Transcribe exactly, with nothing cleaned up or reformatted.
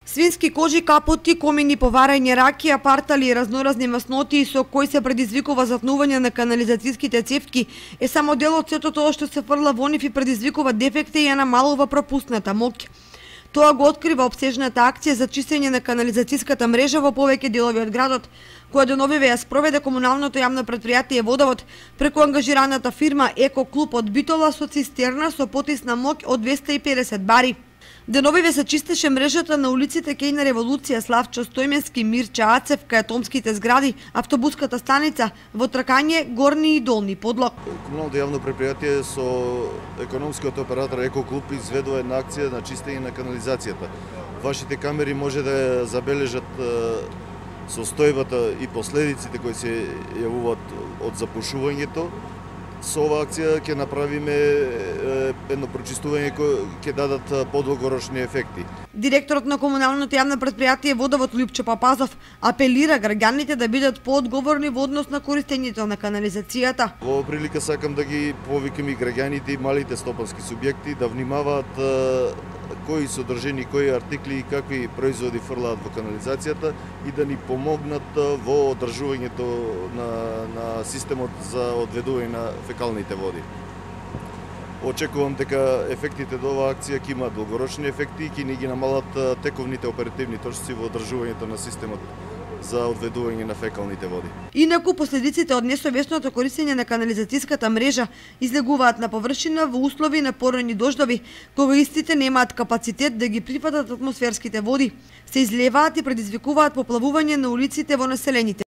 Свински кожи, капоти, комини, поварање ракија, партали и разноразни масноти со кои се предизвикува затнување на канализацијските цевки е само дел од сето тоа што се фрла во нив и предизвикува дефекти и ја намалува пропусната моќ. Тоа го открива опсежната акција за чистење на канализацијската мрежа во повеќе делови од градот, која деновиве ја спроведе комуналното јавно претпријатие Водовод преку ангажираната фирма Еко Клуб од Битола со цистерна со потисна моќ од двесте и педесет бари. Деновиве се чистеше мрежата на улиците Кејна Револуција, Славчо Стојменски, Мирча Ацев, кај атомските згради, автобуската станица, во Тракање, Горни и Долни Подлог. Комуналното јавно претпријатие со економскиот оператор Еко Клуб изведува една акција на чистење на канализацијата. Вашите камери може да ја забележат состојбата и последиците кои се јавуваат од запушувањето. Со оваа акција ќе направиме едно прочистување кој ќе дадат подолгорочни ефекти. Директорот на комуналното јавно претпријатие Водовод Лјупчо Папазов апелира граѓаните да бидат поодговорни во однос на користењето на канализацијата. Во прилика сакам да ги повикам и граѓаните и малите стопански субјекти да внимаваат кои содржини, кои артикли и какви производи фрлаат во канализацијата и да ни помогнат во одржувањето на, на системот за одведување на фекалните води. Очекувам дека ефектите од оваа акција ќе имаат долгорочни ефекти и ќе ни ги намалат тековните оперативни точци во одржувањето на системот за одведување на фекалните води. Инаку последиците од несовесното користење на канализацијската мрежа излегуваат на површина во услови на порани дождови, кога истите немаат капацитет да ги прифатат атмосферските води, се излеваат и предизвикуваат поплавување на улиците во населените